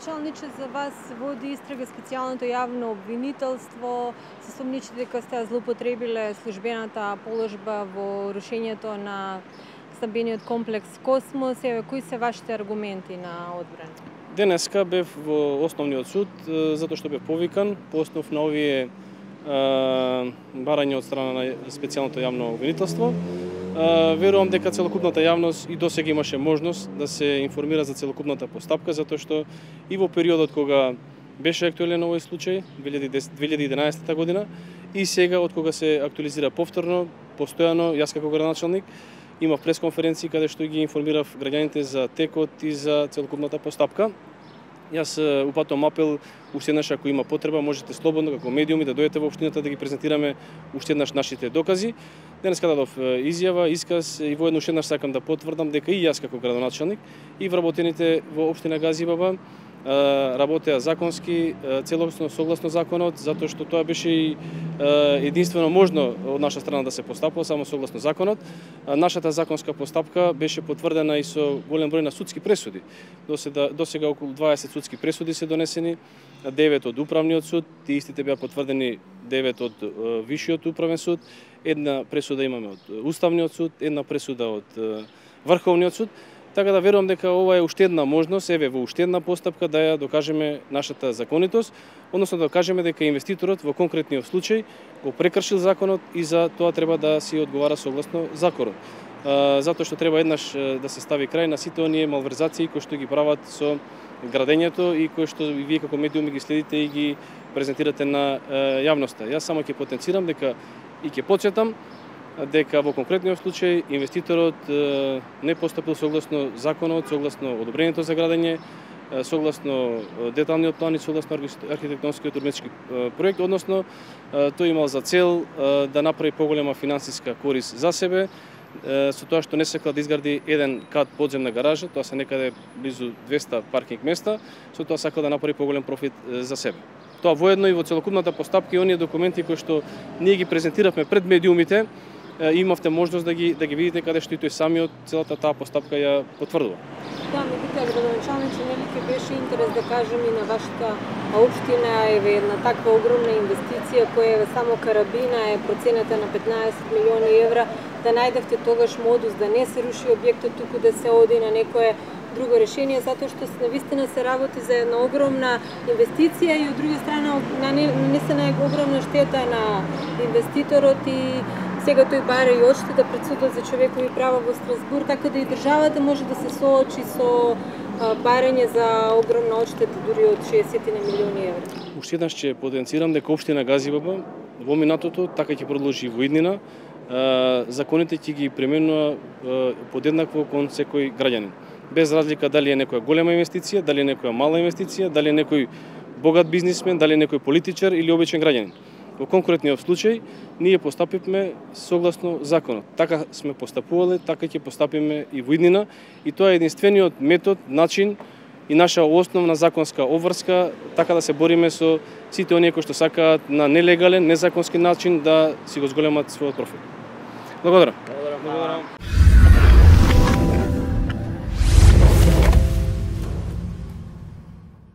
градоначалниче, за вас води истрага специјалното јавно обвинителство. Се сомничите дека сте злоупотребиле службената положба во рушењето на стамбениот комплекс Космос. Кои се вашите аргументи на одбрана? Денеска бев во Основниот суд затоа што бев повикан по основ на овие барања од страна на специјалното јавно обвинителство. Верувам дека целокупната јавност и досега имаше можност да се информира за целокупната постапка, затоа што и во периодот кога беше актуелен овој случај, 2011 година, и сега од кога се актуализира повторно, постојано, јас како градоначалник, имав пресконференции каде што ги информирав граѓаните за текот и за целокупната постапка. Јас упатувам апел, уште еднаш ако има потреба, можете слободно како медиуми да дојдете во општината да ги презентираме уште еднаш нашите докази. Денеска дадов изјава, исказ и воедно уште еднаш сакам да потврдам дека и јас како градоначалник и вработените во општина Газибаба работеа законски, целосно согласно законот, затоа што тоа беше и единствено можно од наша страна да се постапува само согласно законот. Нашата законска постапка беше потврдена и со голем број на судски пресуди. Досега околу 20 судски пресуди се донесени, 9 од управниот суд, тие истите беа потврдени 9 од Вишиот управен суд, една пресуда имаме од Уставниот суд, една пресуда од Врховниот суд. Така да верувам дека ова е уште една можност, еве во уште една постапка да ја докажеме нашата законитост, односно да докажеме дека инвеститорот во конкретниот случај го прекршил законот и за тоа треба да си одговара согласно законот. Затоа што треба еднаш да се стави крај на сите оние малверзации кои што ги прават со градењето и кои што вие како медиуми ги следите и ги презентирате на јавноста. Јас само ќе потенцирам дека и ќе потсетам дека во конкретниот случај инвеститорот не постапил согласно законот, согласно одобрението за градење, согласно деталниот план и согласно архитектонскиот урбанистички проект, односно тој имал за цел да направи поголема финансиска корист за себе, со тоа што не сакал да изгради еден кат подземна гаража, тоа се некаде близу 200 паркинг места, со тоа сакал да направи поголем профит за себе. Тоа воедно и во целокупната постапка и оние документи кои што ние ги презентиравме пред медиумите, имавте можност да ги видите каде што и тој самиот целата таа постапка ја потврдува. Да, меѓутоа градоначалниче, нели ќе беше интерес да кажем и на вашата општина, еве една таква огромна инвестиција која е само карабина е процената на 15 милиони евра, да најдевте тогаш модус да не се руши објектот, туку да се оди на некое друго решение, затоа што навистина се работи за една огромна инвестиција и од друга страна нанесена е огромна штета на инвеститорот и сега тој бара и одштета пред судот за човекови права во Страсбур, така да и државата може да се соочи со барање за огромна одштета дури од 60 милиони евра. Уште еднаш ќе потенцирам дека општина Газибаба во минатото така ќе продолжи во иднина, законите ќе ги применува подеднакво кон секој граѓанин. Без разлика дали е некоја голема инвестиција, дали е некоја мала инвестиција, дали е некој богат бизнисмен, дали е некој политичар или обичен граѓанин. Во конкретниот случај, ние постапивме согласно законот. Така сме постапувале, така ќе постапиме и во иднина, и тоа е единствениот метод, начин и наша основна законска обврска, така да се бориме со сите оние кои што сакаат на нелегален, незаконски начин да си го зголемат својот профит. Благодарам.